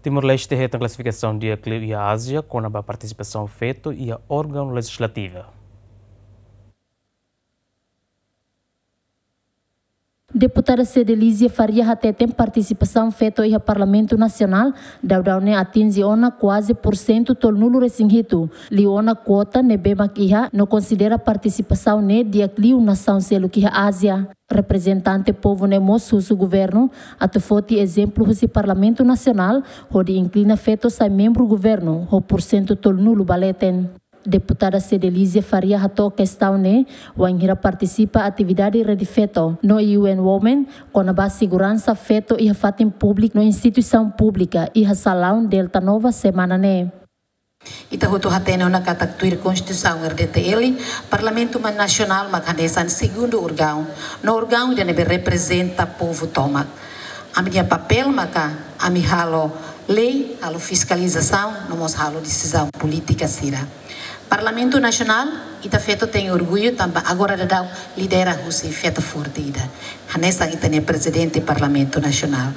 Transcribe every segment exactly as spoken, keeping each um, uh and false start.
Timor-Leste hetan klasifikasaun di'ak liu iha Ázia kona-ba partisipasaun feto iha órgaun lejizlativa. Deputada Cedelizia Faria hateten partisipasaun feto iha Parlamentu Nasionál daudaun ne'e atinje ona kuaze pursentu tolunulu-resin-hitu, liu ona kuota ne'ebé mak iha, no konsidera partisipasaun ne'e di'ak liu nasaun seluk iha Ázia. Reprezentante povu ne'e mós husu governu atu foti ezemplu husi Parlamentu Nasionál hodi inklina feto sai membru governu ho pursentu tolunulu ba leten. Deputada Cedelizia Faria hato'o kestaun ne'e wainhira partisipa atividade Rede Feto no U N Women kona-ba seguransa feto iha fatin públiku no instituisaun públika iha salaun Delta Nova semana ne'e. Ita hotu hatene ona katak tuir Konstituisaun R D T L, Parlamentu ma-, Nasionál mak hanesan segundu órgaun, no órgaun ida ne'ebé reprezenta povu tomak. Ami-nia papél maka ami halo lei, halo fiskalizasaun, no mós halo desizaun polítika sira. Parlamentu Nasionál, ita feto tenke orgullu tanba agora daudaun lidera husi feto forte ida. Hanesan ita-nia prezidente Parlamentu Nasionál.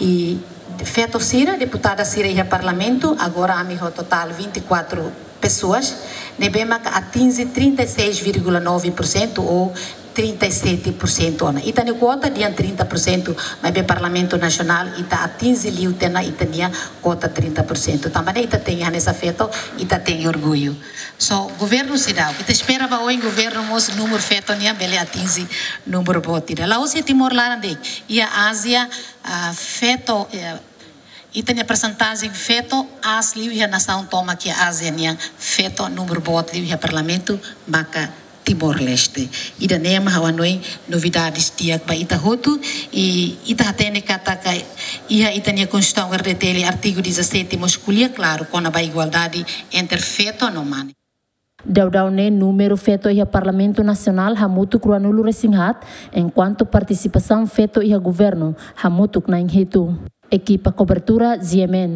I feto sira, deputada sira iha Parlamentu, agora ami ho totál vinte e quatro pessoas, ne'ebé maka atinje trinta e seis vírgula nove por cento ou trinta e sete por cento ona. Ita-nia kuota dehan trinta por cento, maibé Parlamentu Nasionál ita atinje liu tiha ona ita-nia kuota trinta por cento. Tanba ne'e ita tenke hanesan feto, ita tenke orgullu. So, governu seidauk, ita espera ba oin governu mós númeru feto nian bele atinje númeru boot ida. La'ós iha Timor laran de'it, iha Ázia, ah, feto, eh, ita-nia persentajen feto aas liu iha nasaun tomak iha Ázia nian, feto númeru boot liu iha Parlamentu maka Timor-Leste. Ida-ne'e mak ha'u hanoin novidades di'ak ba ita hotu, i ita hatene katak iha ita-nia Konstituisaun R D T L artigu dezassete mós ko'alia klaru kona-ba igualdade entre feto no mane. Daudaun ne'e númeru feto iha Parlamentu Nasionál hamutuk ruanulu-resin-haat, enkuantu partisipasaun feto iha governu hamutuk na'in-hitu. Ekipa kobertura, G M N.